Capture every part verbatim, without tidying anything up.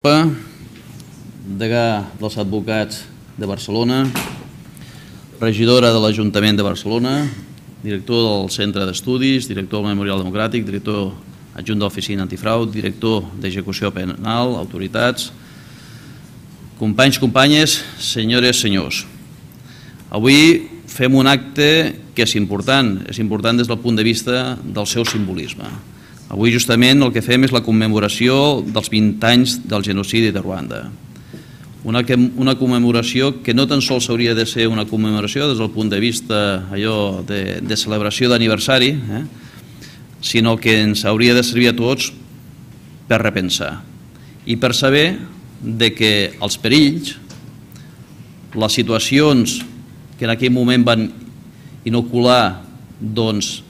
degà dels advocats de Barcelona, regidora de l'Ajuntament de Barcelona, director del Centre d'Estudis, director del Memorial Democràtic, director adjunt de l'Oficina Antifrau, director d'Execució Penal, autoritats, companys, companyes, senyores, senyors. Avui fem un acte que és important, és important des del punt de vista del seu simbolisme. Avui justament el que fem és la commemoració dels vint anys del genocidi de Ruanda. Una, una commemoració que no tan sols hauria de ser una commemoració des del punt de vista allò de, de celebració d'aniversari, eh? sinó que ens hauria de servir a tots per repensar i per saber de que els perills, les situacions que en aquell moment van inocular doncs,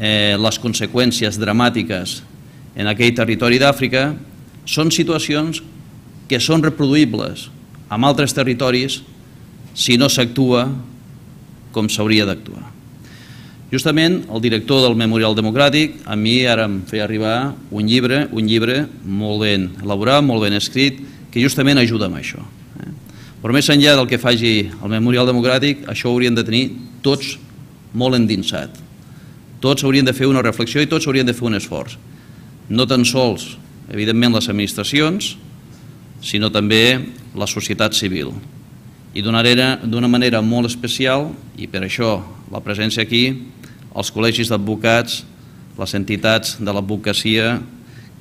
eh, les conseqüències dramàtiques en aquell territori d'Àfrica, són situacions que són reproduïbles en altres territoris si no s'actua com s'hauria d'actuar. Justament el director del Memorial Democràtic a mi ara em feia arribar un llibre, un llibre molt ben elaborat, molt ben escrit, que justament ajuda amb això. Però més enllà del que faci el Memorial Democràtic, això ho haurien de tenir tots molt endinsat. Tots haurien de fer una reflexió i tots haurien de fer un esforç. No tan sols, evidentment, les administracions, sinó també la societat civil. I d'una manera molt especial, i per això la presència aquí, els col·legis d'advocats, les entitats de l'advocacia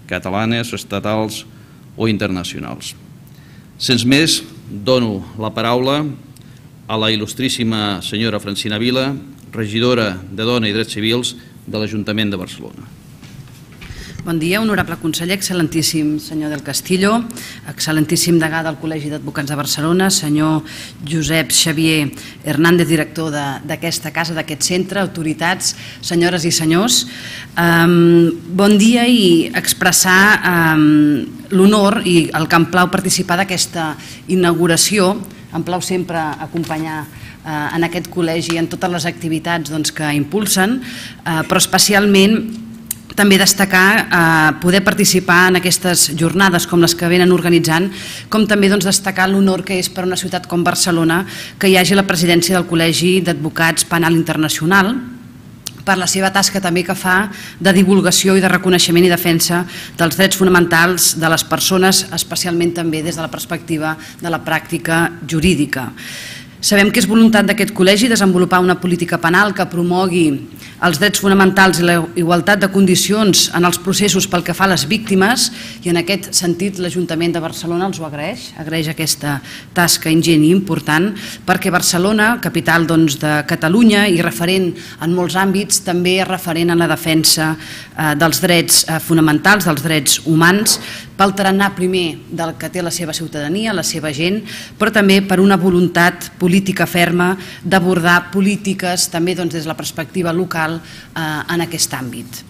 catalanes, estatals o internacionals. Sense més, dono la paraula a la il·lustríssima senyora Francina Vila, regidora de Dona i Drets Civils de l'Ajuntament de Barcelona. Bon dia, honorable conseller, excel·lentíssim senyor del Castillo, excel·lentíssim degà del Col·legi d'Advocats de Barcelona, senyor Josep Xavier Hernández, director d'aquesta casa, d'aquest centre, autoritats, senyores i senyors. Bon dia i expressar l'honor i el que em plau participar d'aquesta inauguració, em plau sempre acompanyar en aquest col·legi en totes les activitats que impulsen, però especialment també destacar poder participar en aquestes jornades com les que venen organitzant, com també destacar l'honor que és per una ciutat com Barcelona que hi hagi la presidència del Col·legi d'Advocats Penal Internacional, per la seva tasca també que fa de divulgació i de reconeixement i defensa dels drets fonamentals de les persones, especialment també des de la perspectiva de la pràctica jurídica. Sabem que és voluntat d'aquest col·legi desenvolupar una política penal que promogui els drets fonamentals i la igualtat de condicions en els processos pel que fa a les víctimes, i en aquest sentit l'Ajuntament de Barcelona els ho agraeix, agraeix aquesta tasca ingent i important, perquè Barcelona, capital de Catalunya i referent en molts àmbits, també és referent en la defensa dels drets fonamentals, dels drets humans, pel tarannà primer del que té la seva ciutadania, la seva gent, però també per una voluntat política ferma d'abordar polítiques també des de la perspectiva local en aquest àmbit.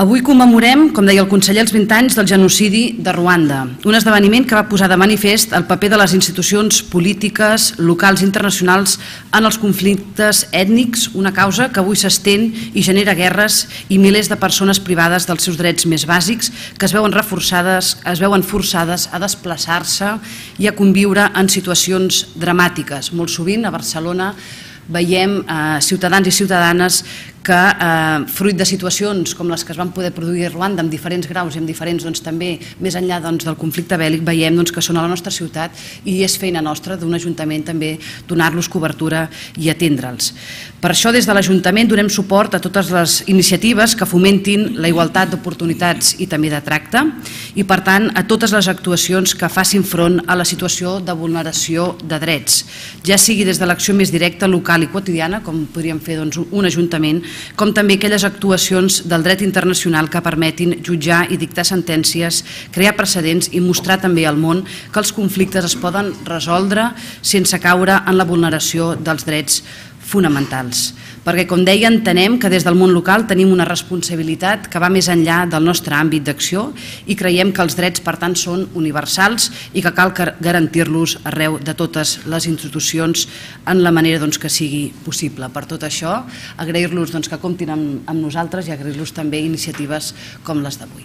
Avui commemorem, com deia el conseller, els vint anys del genocidi de Ruanda, un esdeveniment que va posar de manifest el paper de les institucions polítiques locals i internacionals en els conflictes ètnics, una causa que avui s'estén i genera guerres i milers de persones privades dels seus drets més bàsics que es veuen reforçades, es veuen forçades a desplaçar-se i a conviure en situacions dramàtiques. Molt sovint a Barcelona veiem ciutadans i ciutadanes que, fruit de situacions com les que es van poder produir a Ruanda amb diferents graus i amb diferents, també més enllà del conflicte bèl·lic, veiem que són a la nostra ciutat i és feina nostra d'un ajuntament també donar-los cobertura i atendre'ls. Per això des de l'Ajuntament donem suport a totes les iniciatives que fomentin la igualtat d'oportunitats i també de tracte i per tant a totes les actuacions que facin front a la situació de vulneració de drets, ja sigui des de l'acció més directa, local i quotidiana, com podríem fer un ajuntament, com també aquelles actuacions del dret internacional que permetin jutjar i dictar sentències, crear precedents i mostrar també al món que els conflictes es poden resoldre sense caure en la vulneració dels drets fonamentals. Perquè, com deia, entenem que des del món local tenim una responsabilitat que va més enllà del nostre àmbit d'acció i creiem que els drets, per tant, són universals i que cal garantir-los arreu de totes les institucions en la manera que sigui possible. Per tot això, agrair-los que comptin amb nosaltres i agrair-los també iniciatives com les d'avui.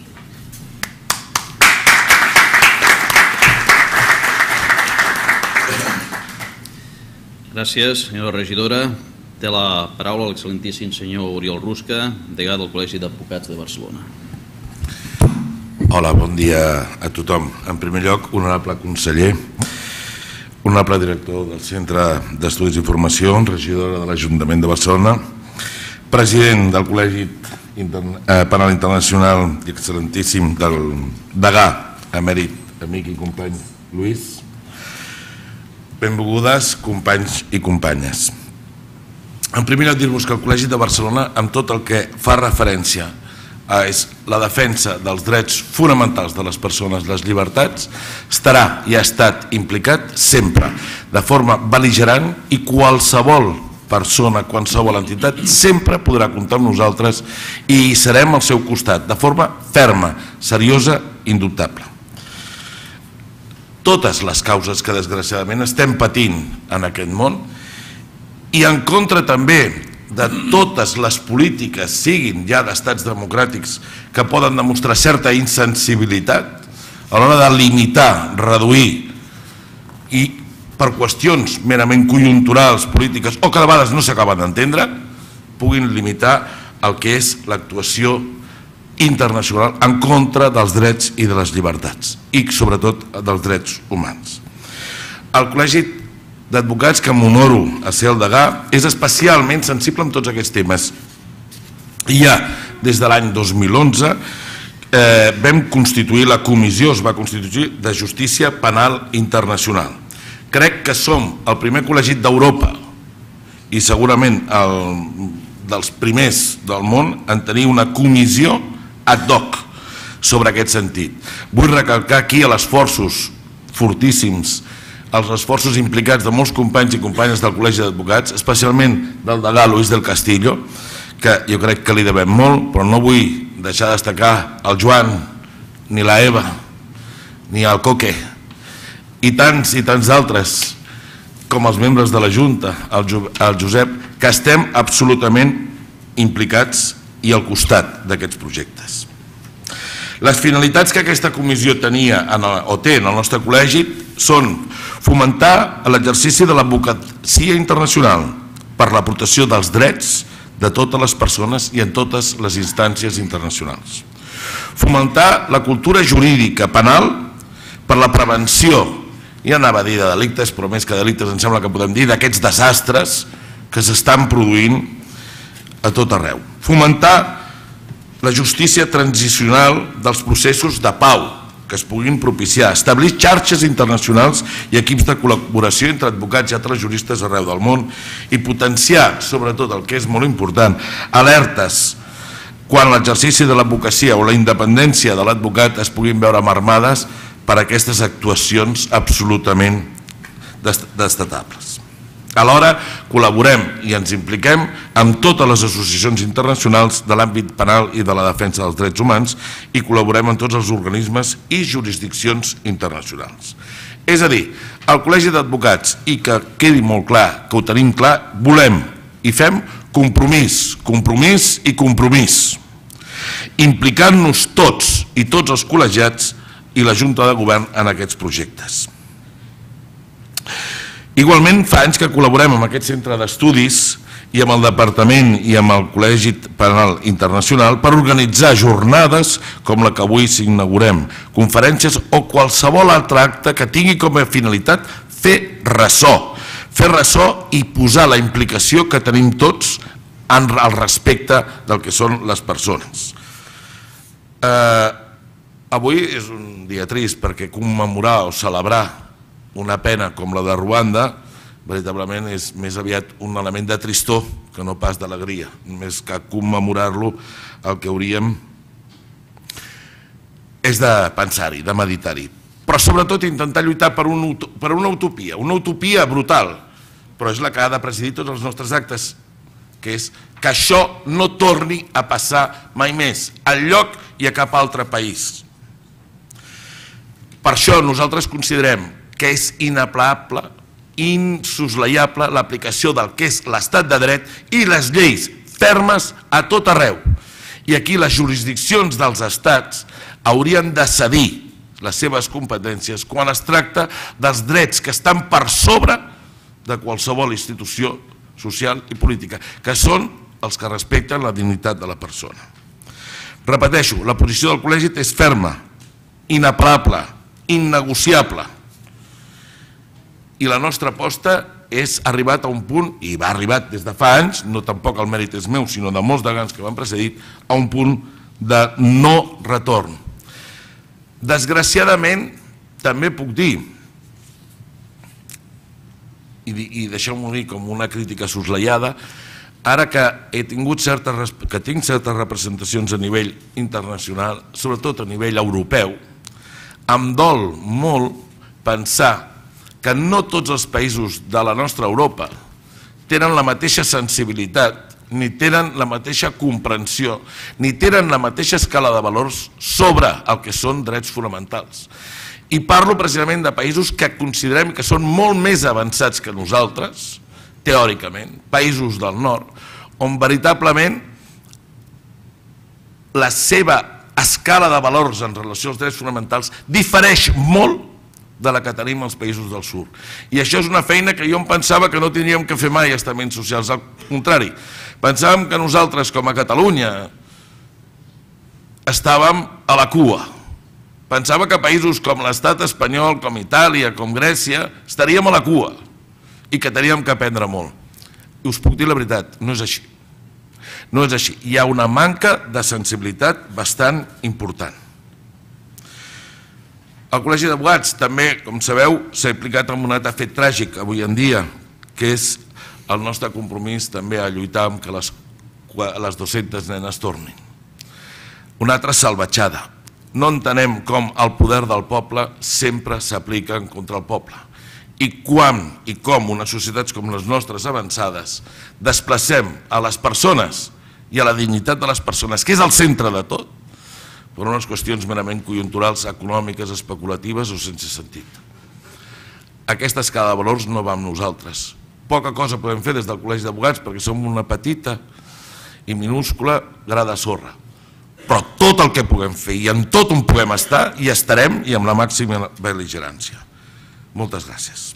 Gràcies, senyora regidora. Té la paraula l'excel·lentíssim senyor Oriol Rusca, degà del Col·legi d'Advocats de Barcelona. Hola, bon dia a tothom. En primer lloc, honorable conseller, honorable director del Centre d'Estudis i Formació, regidora de l'Ajuntament de Barcelona, president del Col·legi Penal Internacional i excel·lentíssim del degà emèrit, amic i company Lluís, benvolgudes companys i companyes. En primer lloc, dir-vos que el Col·legi de Barcelona, amb tot el que fa referència a la defensa dels drets fonamentals de les persones, les llibertats, estarà i ha estat implicat sempre, de forma bel·ligerant, i qualsevol persona, qualsevol entitat, sempre podrà comptar amb nosaltres i serem al seu costat, de forma ferma, seriosa, indubtable. Totes les causes que desgraciadament estem patint en aquest món i en contra també de totes les polítiques, siguin ja d'estats democràtics, que poden demostrar certa insensibilitat a l'hora de limitar, reduir i per qüestions merament conjunturals, polítiques o que a vegades no s'acaben d'entendre, puguin limitar el que és l'actuació internacional en contra dels drets i de les llibertats i sobretot dels drets humans. El Col·legi d'Advocats, que m'honoro a ser el degà, és especialment sensible amb tots aquests temes. I ja des de l'any dos mil onze vam constituir la comissió, es va constituir, de Justícia Penal Internacional. Crec que som el primer col·legi d'Europa i segurament dels primers del món en tenir una comissió ad hoc sobre aquest sentit. Vull recalcar aquí els esforços fortíssims, els esforços implicats de molts companys i companyes del Col·legi d'Advocats, especialment del degà Luis del Castillo, que jo crec que li devem molt, però no vull deixar de destacar el Joan, ni la Eva, ni el Coque, i tants i tants altres, com els membres de la Junta, el Josep, que estem absolutament implicats i al costat d'aquests projectes. Les finalitats que aquesta comissió tenia o té en el nostre col·legi són fomentar l'exercici de l'advocacia internacional per la protecció dels drets de totes les persones i en totes les instàncies internacionals. Fomentar la cultura jurídica penal per la prevenció, i anava a dir de delictes, però més que delictes em sembla que podem dir d'aquests desastres que s'estan produint a tot arreu. Fomentar la justícia transicional dels processos de pau que es puguin propiciar, establir xarxes internacionals i equips de col·laboració entre advocats i altres juristes arreu del món i potenciar, sobretot el que és molt important, alertes quan l'exercici de l'advocacia o la independència de l'advocat es puguin veure marmades per aquestes actuacions absolutament destatables. Alhora, col·laborem i ens impliquem amb totes les associacions internacionals de l'àmbit penal i de la defensa dels drets humans i col·laborem amb tots els organismes i jurisdiccions internacionals. És a dir, el Col·legi d'Advocats, i que quedi molt clar, que ho tenim clar, volem i fem compromís, compromís i compromís, implicant-nos tots i tots els col·legiats i la Junta de Govern en aquests projectes. Igualment, fa anys que col·laborem amb aquest centre d'estudis i amb el Departament i amb el Col·legi Penal Internacional per organitzar jornades com la que avui s'inaugurem, conferències o qualsevol altre acte que tingui com a finalitat fer ressò, fer ressò i posar la implicació que tenim tots al respecte del que són les persones. Avui és un dia trist perquè commemorar o celebrar una pena com la de Ruanda veritablement és més aviat un element de tristor que no pas d'alegria. Més que commemorar-lo, el que hauríem és de pensar-hi, de meditar-hi. Però sobretot intentar lluitar per una utopia, una utopia brutal, però és la que ha de presidir tots els nostres actes, que és que això no torni a passar mai més, enlloc i a cap altre país. Per això nosaltres considerem que és inaplable, insoslayable l'aplicació del que és l'estat de dret i les lleis fermes a tot arreu. I aquí les jurisdiccions dels estats haurien de cedir les seves competències quan es tracta dels drets que estan per sobre de qualsevol institució social i política, que són els que respecten la dignitat de la persona. Repeteixo, la posició del col·legi és ferma, inapel·lable, innegociable. I la nostra aposta és arribat a un punt, i va arribat des de fa anys, no tampoc el mèrit és meu, sinó de molts degans que m'han precedit, a un punt de no retorn. Desgraciadament, també puc dir, i deixeu-m'ho dir com una crítica soslaiada, ara que he tingut certes, que tinc certes representacions a nivell internacional, sobretot a nivell europeu, em dol molt pensar que no tots els països de la nostra Europa tenen la mateixa sensibilitat, ni tenen la mateixa comprensió, ni tenen la mateixa escala de valors sobre el que són drets fonamentals. I parlo precisament de països que considerem que són molt més avançats que nosaltres, teòricament, països del nord, on veritablement la seva escala de valors en relació als drets fonamentals difereix molt de la que tenim als països del sud. I això és una feina que jo em pensava que no tindríem que fer mai estaments socials. Al contrari, pensàvem que nosaltres, com a Catalunya, estàvem a la cua. Pensava que països com l'estat espanyol, com Itàlia, com Grècia, estaríem a la cua i que teníem que aprendre molt. I us puc dir la veritat, no és així. No és així. Hi ha una manca de sensibilitat bastant important. El Col·legi d'Advocats també, com sabeu, s'ha implicat en un altre fet tràgic avui en dia, que és el nostre compromís també a lluitar amb que les, les dues-centes nenes tornin. Una altra salvatjada. No entenem com el poder del poble sempre s'aplica contra el poble. I quan i com unes societats com les nostres avançades desplacem a les persones i a la dignitat de les persones, que és el centre de tot, per unes qüestions merament conjunturals, econòmiques, especulatives o sense sentit. Aquesta escala de valors no va amb nosaltres. Poca cosa podem fer des del Col·legi d'Advocats perquè som una petita i minúscula gra de sorra. Però tot el que puguem fer i en tot on puguem estar, hi estarem i amb la màxima bel·ligerància. Moltes gràcies.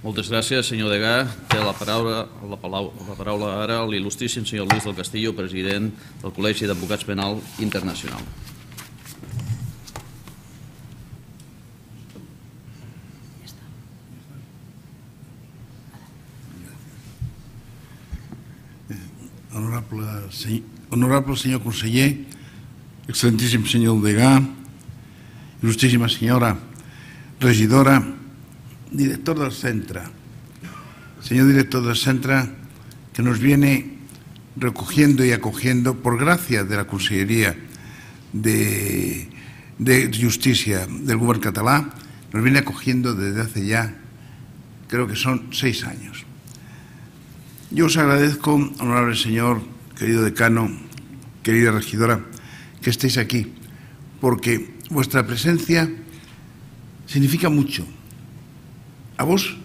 Moltes gràcies, senyor Degà. Té la paraula, la paraula, la paraula ara l'il·lustríssim senyor Luis del Castillo, president del Col·legi d'Advocats Penal Internacional. Honorable, honorable senyor conseller, excelentíssim senyor Degà, il·lustríssima senyora regidora, director del centre, señor director del centre, que nos viene recogiendo y acogiendo, por gracia de la Conselleria de, de Justicia del Govern català, nos viene acogiendo desde hace ya, creo que son seis años. Yo os agradezco, honorable señor, querido decano, querida regidora, que estéis aquí, porque vuestra presencia significa mucho. A vos,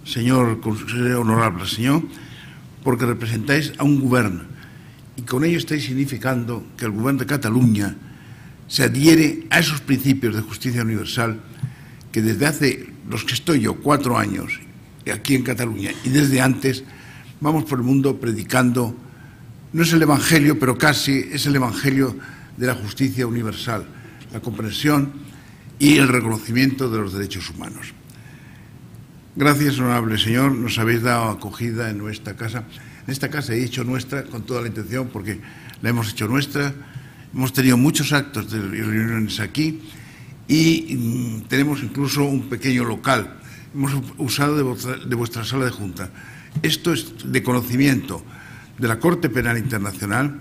señor honorable señor, porque representáis a un gobierno y con ello estáis significando que el gobierno de Cataluña se adhiere a esos principios de justicia universal que desde hace, los que estoy yo, cuatro años aquí en Cataluña y desde antes, vamos por el mundo predicando, no es el Evangelio, pero casi es el Evangelio de la justicia universal, la comprensión y el reconocimiento de los derechos humanos. Gracias, honorable señor, nos habéis dado acogida en nuestra casa. En esta casa he dicho nuestra con toda la intención porque la hemos hecho nuestra. Hemos tenido muchos actos de reuniones aquí y mmm, tenemos incluso un pequeño local. Hemos usado de vuestra, de vuestra sala de junta. Esto es de conocimiento de la Corte Penal Internacional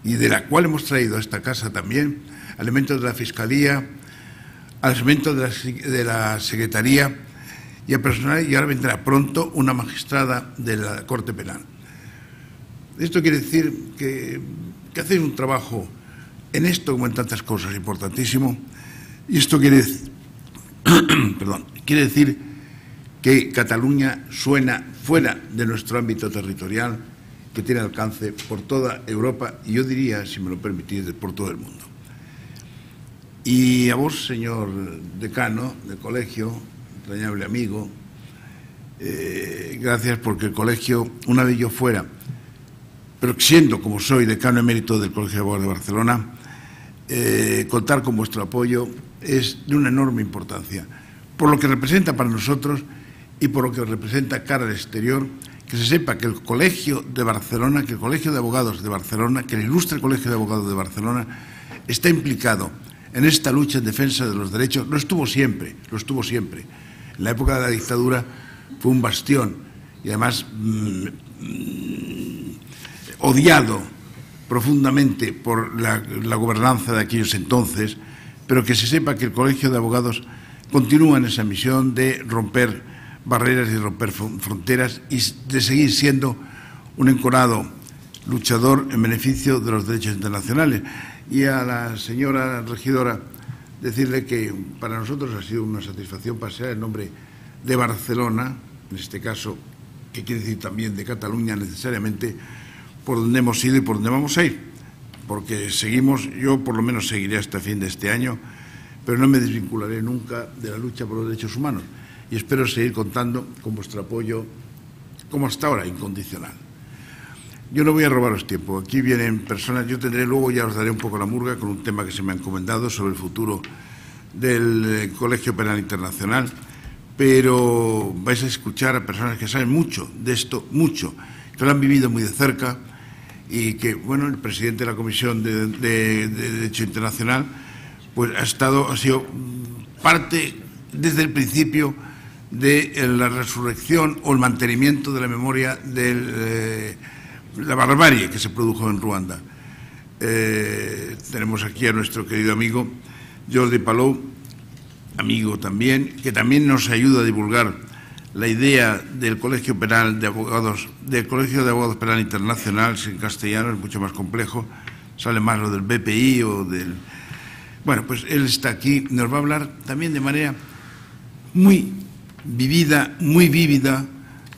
y de la cual hemos traído a esta casa también elementos de la Fiscalía, elementos de la, de la Secretaría y a personal, y ahora vendrá pronto una magistrada de la Corte Penal. Esto quiere decir que, que hacéis un trabajo en esto como en tantas cosas importantísimo, y esto quiere decir, perdón, quiere decir que Cataluña suena fuera de nuestro ámbito territorial, que tiene alcance por toda Europa y yo diría, si me lo permitís, por todo el mundo. Y a vos, señor decano del colegio, entrañable amigo, eh, gracias porque el colegio, una vez yo fuera, pero siendo como soy decano emérito del Colegio de Abogados de Barcelona, eh, contar con vuestro apoyo es de una enorme importancia, por lo que representa para nosotros y por lo que representa cara al exterior, que se sepa que el Colegio de Barcelona, que el Colegio de Abogados de Barcelona, que el ilustre Colegio de Abogados de Barcelona está implicado en esta lucha en defensa de los derechos. Lo estuvo siempre, lo estuvo siempre. En la época de la dictadura fue un bastión y además mmm, mmm, odiado profundamente por la, la gobernanza de aquellos entonces, pero que se sepa que el Colegio de Abogados continúa en esa misión de romper barreras y romper fronteras y de seguir siendo un encorado luchador en beneficio de los derechos internacionales. Y a la señora regidora decirle que para nosotros ha sido una satisfacción pasear el nombre de Barcelona, en este caso, que quiere decir también de Cataluña necesariamente, por donde hemos ido y por donde vamos a ir, porque seguimos, yo por lo menos seguiré hasta fin de este año, pero no me desvincularé nunca de la lucha por los derechos humanos y espero seguir contando con vuestro apoyo, como hasta ahora, incondicional. Yo no voy a robaros tiempo, aquí vienen personas, yo tendré luego, ya os daré un poco la murga con un tema que se me ha encomendado sobre el futuro del Colegio Penal Internacional, pero vais a escuchar a personas que saben mucho de esto, mucho, que lo han vivido muy de cerca y que, bueno, el presidente de la Comisión de, de, de Derecho Internacional pues ha estado, ha sido parte desde el principio de la resurrección o el mantenimiento de la memoria de eh, la barbarie que se produjo en Ruanda. Eh, tenemos aquí a nuestro querido amigo Jordi Palou, amigo también, que también nos ayuda a divulgar la idea del Colegio Penal de Abogados, del Colegio de Abogados Penal Internacional, en castellano es mucho más complejo, sale más lo del B P I o del... Bueno, pues él está aquí, nos va a hablar también de manera muy vivida, muy vívida,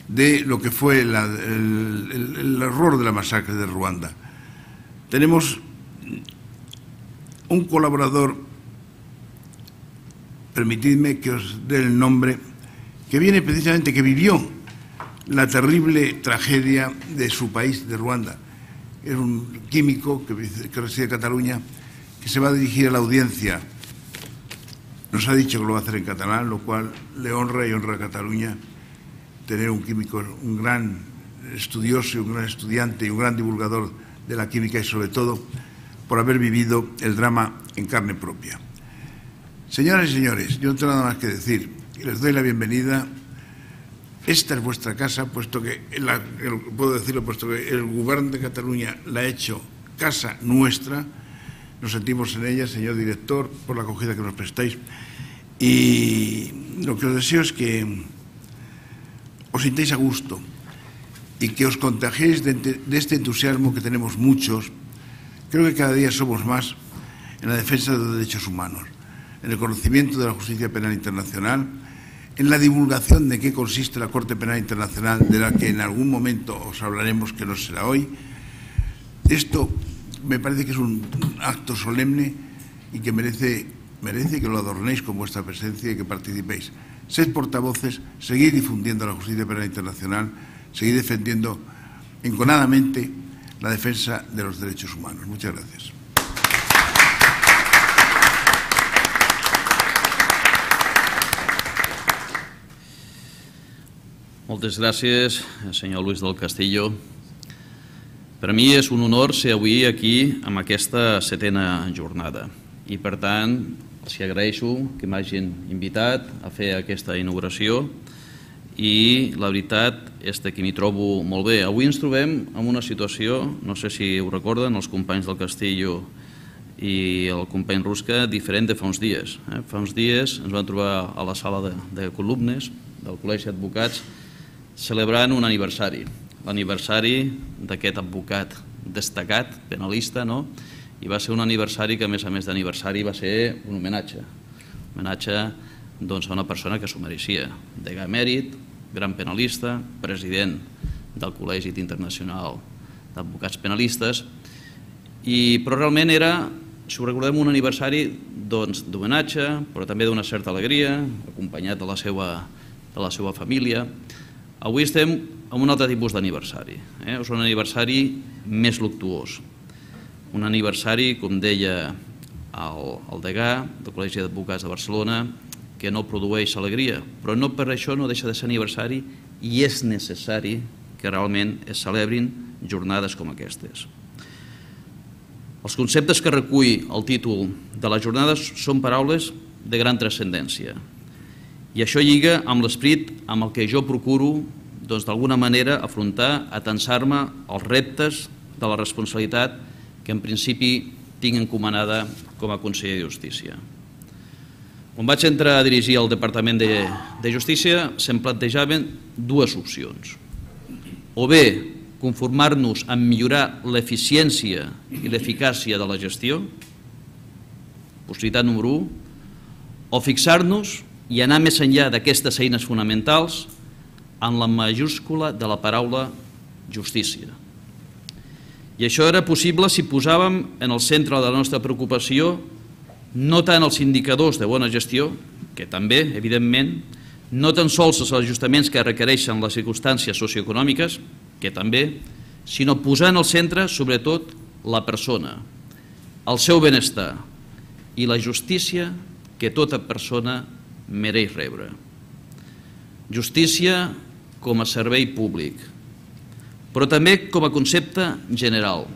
de lo que fue la, el, el, el horror de la masacre de Ruanda. Tenemos un colaborador, permitidme que os dé el nombre, que viene precisamente, que vivió la terrible tragedia de su país, de Ruanda. Es un químico que, que reside en Cataluña, que se va a dirigir a la audiencia. Nos ha dicho que lo va a hacer en catalán, lo cual le honra y honra a Cataluña tener un químico, un gran estudioso y un gran estudiante y un gran divulgador de la química y sobre todo por haber vivido el drama en carne propia. Señoras y señores, yo no tengo nada más que decir. Les doy la bienvenida. Esta es vuestra casa, puesto que, la, el, puedo decirlo, puesto que el Gobierno de Cataluña la ha hecho casa nuestra. Nos sentimos en ella, señor director, por la acogida que nos prestáis. Y lo que os deseo es que os sintáis a gusto y que os contagiéis de, de este entusiasmo que tenemos muchos. Creo que cada día somos más en la defensa de los derechos humanos, en el conocimiento de la justicia penal internacional, en la divulgación de qué consiste la Corte Penal Internacional, de la que en algún momento os hablaremos, que no será hoy. Esto me parece que es un acto solemne y que merece, merece que lo adornéis con vuestra presencia y que participéis. Sed portavoces, seguid difundiendo la justicia penal internacional, seguid defendiendo enconadamente la defensa de los derechos humanos. Muchas gracias. Moltes gràcies, senyor Luis del Castillo. Per a mi és un honor ser avui aquí amb aquesta setena jornada i, per tant, els agraeixo que m'hagin invitat a fer aquesta inauguració i la veritat és que m'hi trobo molt bé. Avui ens trobem en una situació, no sé si ho recorden els companys del Castillo i el company Rusca, diferent de fa uns dies. Fa uns dies ens vam trobar a la sala de columnes del Col·legi d'Advocats celebrant un aniversari, l'aniversari d'aquest advocat destacat, penalista, no? I va ser un aniversari que, a més a més d'aniversari, va ser un homenatge. Un homenatge doncs, a una persona que s'ho mereixia. Degà emèrit, gran penalista, president del Col·legi Internacional d'Advocats Penalistes, i, però realment era si ho recordem, un aniversari d'homenatge, però també d'una certa alegria, acompanyat de la seva família. Avui estem en un altre tipus d'aniversari. És un aniversari més luctuós. Un aniversari, com deia el degà del Col·legi d'Advocats de Barcelona, que no produeix alegria, però no per això no deixa de ser aniversari i és necessari que realment es celebrin jornades com aquestes. Els conceptes que recull el títol de les jornades són paraules de gran transcendència i això lliga amb l'esperit amb el que jo procuro d'alguna manera afrontar, atensar-me als reptes de la responsabilitat que en principi tinc encomanada com a conseller de Justícia. Quan vaig entrar a dirigir el Departament de Justícia se'm plantejaven dues opcions. O bé conformar-nos en millorar l'eficiència i l'eficàcia de la gestió, possibilitat número u, o fixar-nos i anar més enllà d'aquestes eines fonamentals en la majúscula de la paraula justícia. I això era possible si posàvem en el centre de la nostra preocupació no tant els indicadors de bona gestió, que també, evidentment, no tan sols els ajustaments que requereixen les circumstàncies socioeconòmiques, que també, sinó posar en el centre, sobretot, la persona, el seu benestar i la justícia que tota persona mereix rebre. Justícia com a servei públic, però també com a concepte general.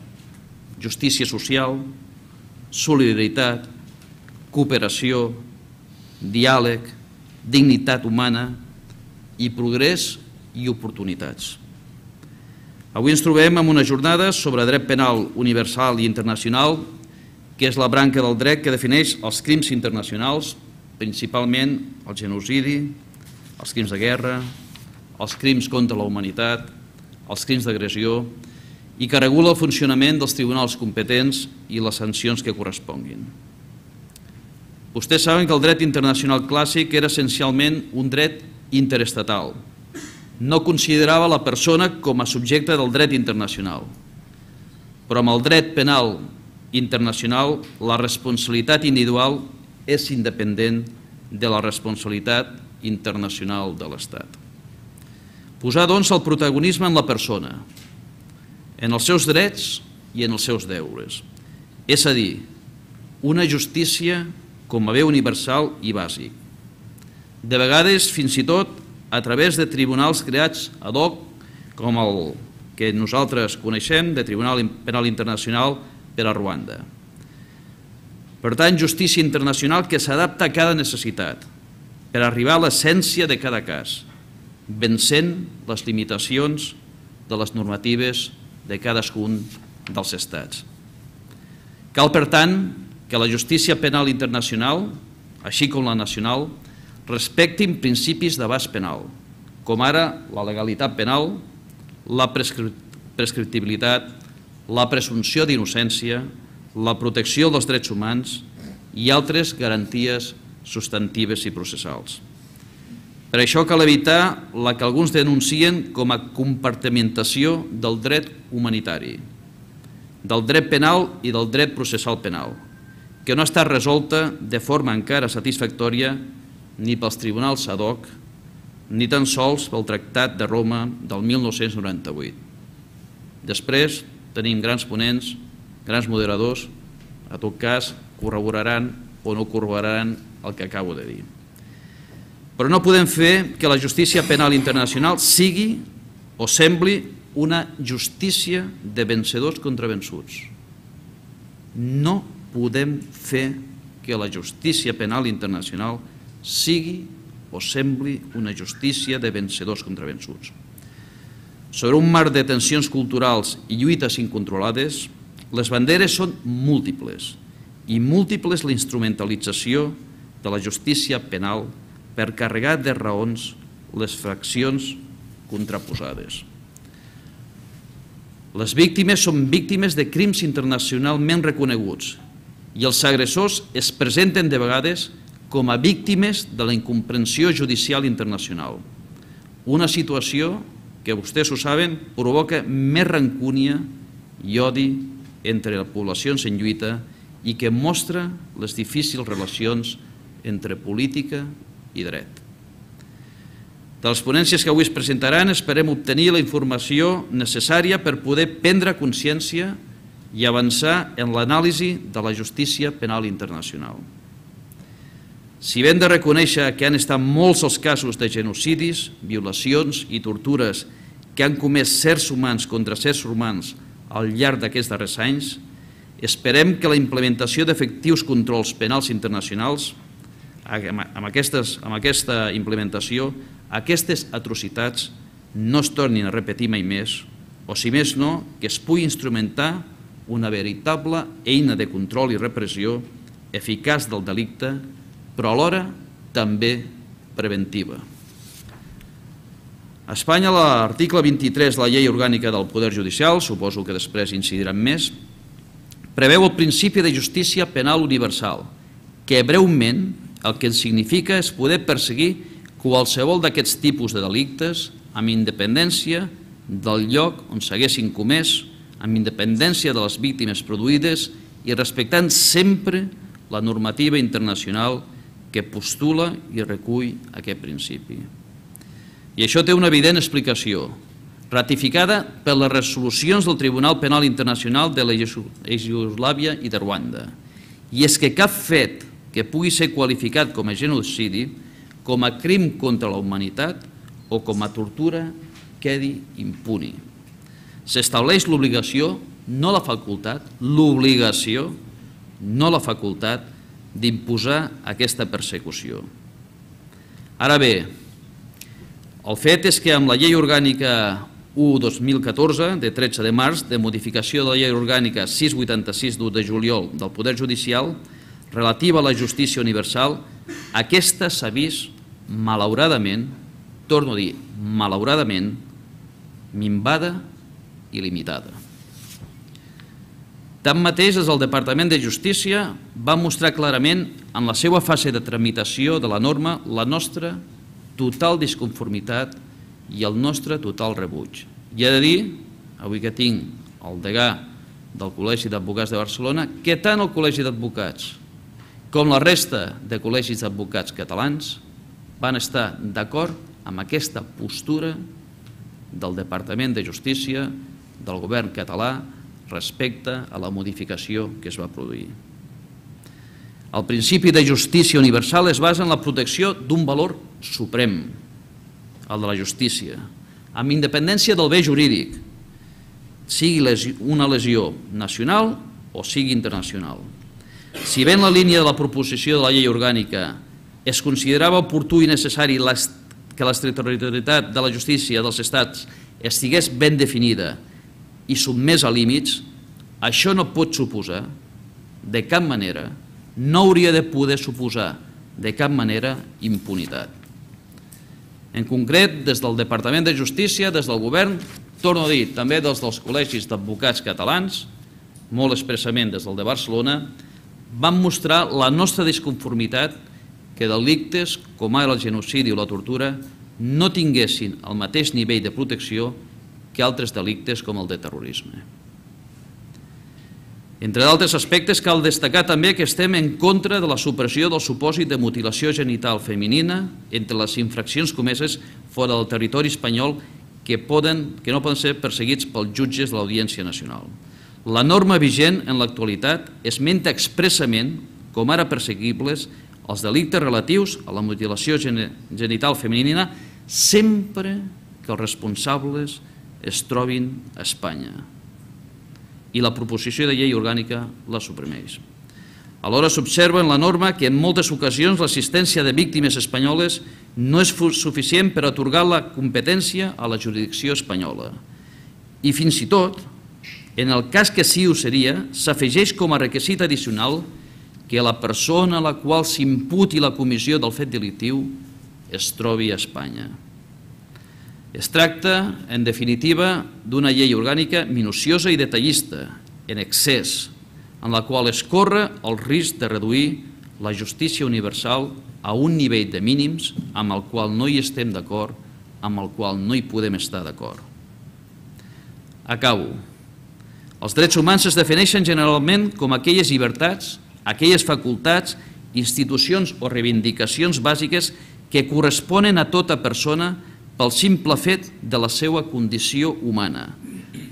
Justícia social, solidaritat, cooperació, diàleg, dignitat humana i progrés i oportunitats. Avui ens trobem en unes jornades sobre dret penal universal i internacional, que és la branca del dret que defineix els crims internacionals, principalment el genocidi, els crims de guerra, els crims contra la humanitat, els crims d'agressió, i que regula el funcionament dels tribunals competents i les sancions que corresponguin. Vostès saben que el dret internacional clàssic era essencialment un dret interestatal. No considerava la persona com a subjecte del dret internacional. Però amb el dret penal internacional, la responsabilitat individual és independent de la responsabilitat internacional de l'Estat. Posar, doncs, el protagonisme en la persona, en els seus drets i en els seus deures. És a dir, una justícia com a bé universal i bàsic. De vegades, fins i tot, a través de tribunals creats ad hoc, com el que nosaltres coneixem, de Tribunal Penal Internacional per a Ruanda. Per tant, justícia internacional que s'adapta a cada necessitat, per arribar a l'essència de cada cas, vencent les limitacions de les normatives de cadascun dels estats. Cal, per tant, que la justícia penal internacional, així com la nacional, respectin principis d'abast penal, com ara la legalitat penal, la prescriptibilitat, la presumpció d'innocència, la protecció dels drets humans i altres garanties substantives i processals. Per això cal evitar la que alguns denuncien com a compartimentació del dret humanitari, del dret penal i del dret processal penal, que no ha estat resolta de forma encara satisfactòria ni pels tribunals ad hoc, ni tan sols pel Tractat de Roma del mil nou-cents noranta-vuit. Després tenim grans ponents, grans moderadors, a tot cas corroboraran o no corroboraran el que acabo de dir. Però no podem fer que la justícia penal internacional sigui o sembli una justícia de vencedors contra vençuts. No podem fer que la justícia penal internacional sigui o sembli una justícia de vencedors contra vençuts. Sobre un marc de tensions culturals i lluites incontrolades, les banderes són múltiples i múltiples la instrumentalització de la justícia penal per carregar de raons les fraccions contraposades. Les víctimes són víctimes de crims internacionalment reconeguts i els agressors es presenten de vegades com a víctimes de la incomprensió judicial internacional. Una situació que, vostès ho saben, provoca més rancúnia i odi entre les poblacions en lluita i que mostra les difícils relacions entre política i dret. De les ponències que avui es presentaran esperem obtenir la informació necessària per poder prendre consciència i avançar en l'anàlisi de la justícia penal internacional. Si ben de reconèixer que han estat molts els casos de genocidis, violacions i tortures que han comès certs humans contra certs humans al llarg d'aquests darrers anys, esperem que la implementació d'efectius controls penals internacionals, amb aquesta implementació, aquestes atrocitats no es tornin a repetir mai més, o si més no, que es pugui instrumentar una veritable eina de control i repressió eficaç del delicte, però alhora també preventiva. A Espanya, l'article vint-i-tres de la Llei Orgànica del Poder Judicial, suposo que després incidiran més, preveu el principi de justícia penal universal, que breument el que significa és poder perseguir qualsevol d'aquests tipus de delictes amb independència del lloc on s'haguessin comès, amb independència de les víctimes produïdes i respectant sempre la normativa internacional que postula i recull aquest principi. I això té una evident explicació, ratificada per les resolucions del Tribunal Penal Internacional de la Iugoslàvia i de Ruanda. I és que cap fet que pugui ser qualificat com a genocidi, com a crim contra la humanitat o com a tortura quedi impuni. S'estableix l'obligació, no la facultat, l'obligació, no la facultat d'imposar aquesta persecució. Ara bé, el fet és que amb la Llei Orgànica u dos mil catorze, de tretze de març, de modificació de la Llei Orgànica sis vuitanta-sis d'u de juliol del Poder Judicial, relativa a la justícia universal, aquesta s'ha vist, malauradament, torno a dir, malauradament, minvada i limitada. Tanmateix, des del Departament de Justícia va mostrar clarament en la seva fase de tramitació de la norma la nostra total disconformitat i el nostre total rebuig. I he de dir, avui que tinc el degà del Col·legi d'Advocats de Barcelona, que tant el Col·legi d'Advocats com la resta de col·legis d'advocats catalans van estar d'acord amb aquesta postura del Departament de Justícia, del govern català, respecte a la modificació que es va produir. El principi de justícia universal es basa en la protecció d'un valor suprem, el de la justícia, amb independència del bé jurídic, sigui una lesió nacional o sigui internacional. Si bé en la línia de la proposició de la llei orgànica es considerava oportú i necessari que l'extraterritorialitat de la justícia dels estats estigués ben definida i sotmès a límits, això no pot suposar de cap manera, no hauria de poder suposar de cap manera impunitat. En concret, des del Departament de Justícia, des del govern, torno a dir, també des dels col·legis d'advocats catalans, molt expressament des del de Barcelona, vam mostrar la nostra disconformitat que delictes com ara el genocidi o la tortura no tinguessin el mateix nivell de protecció que altres delictes com el de terrorisme. Entre d'altres aspectes, cal destacar també que estem en contra de la supressió del supòsit de mutilació genital femenina entre les infraccions comeses fora del territori espanyol que, poden, que no poden ser perseguits pels jutges de l'Audiència Nacional. La norma vigent en l'actualitat esmenta expressament com ara perseguibles els delictes relatius a la mutilació genital femenina sempre que els responsables es trobin a Espanya. I la proposició de llei orgànica la suprimeix. Alhora s'observa en la norma que en moltes ocasions l'assistència de víctimes espanyoles no és suficient per atorgar la competència a la jurisdicció espanyola. I fins i tot, en el cas que sí ho seria, s'afegeix com a requisit addicional que la persona a la qual s'imputi la comissió del fet delictiu es trobi a Espanya. Es tracta, en definitiva, d'una llei orgànica minuciosa i detallista, en excés, en la qual es corre el risc de reduir la justícia universal a un nivell de mínims amb el qual no hi estem d'acord, amb el qual no hi podem estar d'acord. Acabo. Els drets humans es defineixen generalment com aquelles llibertats, aquelles facultats, institucions o reivindicacions bàsiques que corresponen a tota persona pel simple fet de la seva condició humana,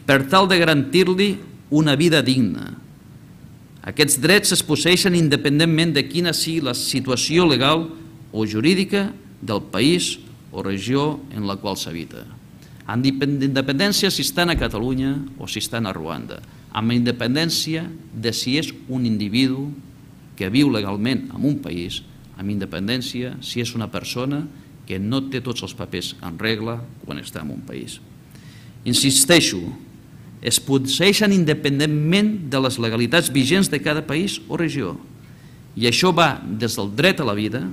per tal de garantir-li una vida digna. Aquests drets es posseeixen independentment de quina sigui la situació legal o jurídica del país o regió en la qual s'habita. Amb independència si estan a Catalunya o si estan a Ruanda, amb independència de si és un individu que viu legalment en un país, amb independència si és una persona que no té tots els papers en regla quan està en un país. Insisteixo, es posseeixen independentment de les legalitats vigents de cada país o regió, i això va des del dret a la vida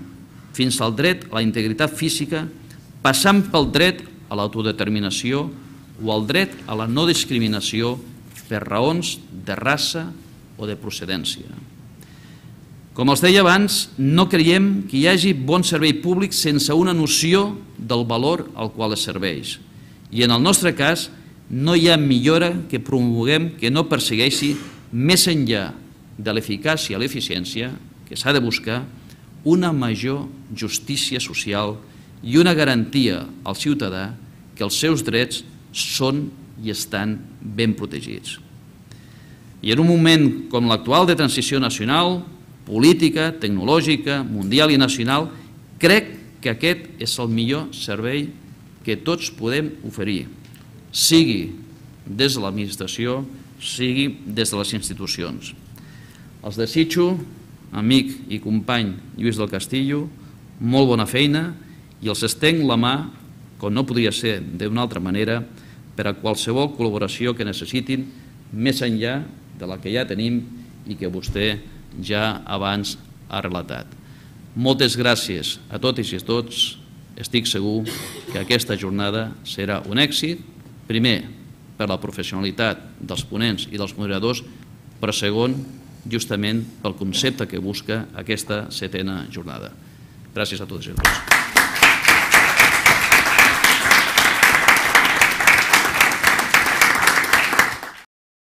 fins al dret a la integritat física, passant pel dret a l'autodeterminació o al dret a la no discriminació per raons de raça o de procedència. Com els deia abans, no creiem que hi hagi bon servei públic sense una noció del valor al qual es serveix. I en el nostre cas, no hi ha millora que promoguem que no persegueixi més enllà de l'eficàcia i l'eficiència que s'ha de buscar una major justícia social i una garantia al ciutadà que els seus drets són i estan ben protegits. I en un moment com l'actual de transició nacional, política, tecnològica, mundial i nacional, crec que aquest és el millor servei que tots podem oferir, sigui des de l'administració, sigui des de les institucions. Els desitjo, amic i company Lluís del Castillo, molt bona feina i els estenc la mà, com no podria ser d'una altra manera, per a qualsevol col·laboració que necessitin, més enllà de la que ja tenim i que vostè ja abans ha relatat. Moltes gràcies a totes i a tots. Estic segur que aquesta jornada serà un èxit, primer per la professionalitat dels ponents i dels moderadors, però segon, justament pel concepte que busca aquesta setena jornada. Gràcies a totes i a tots.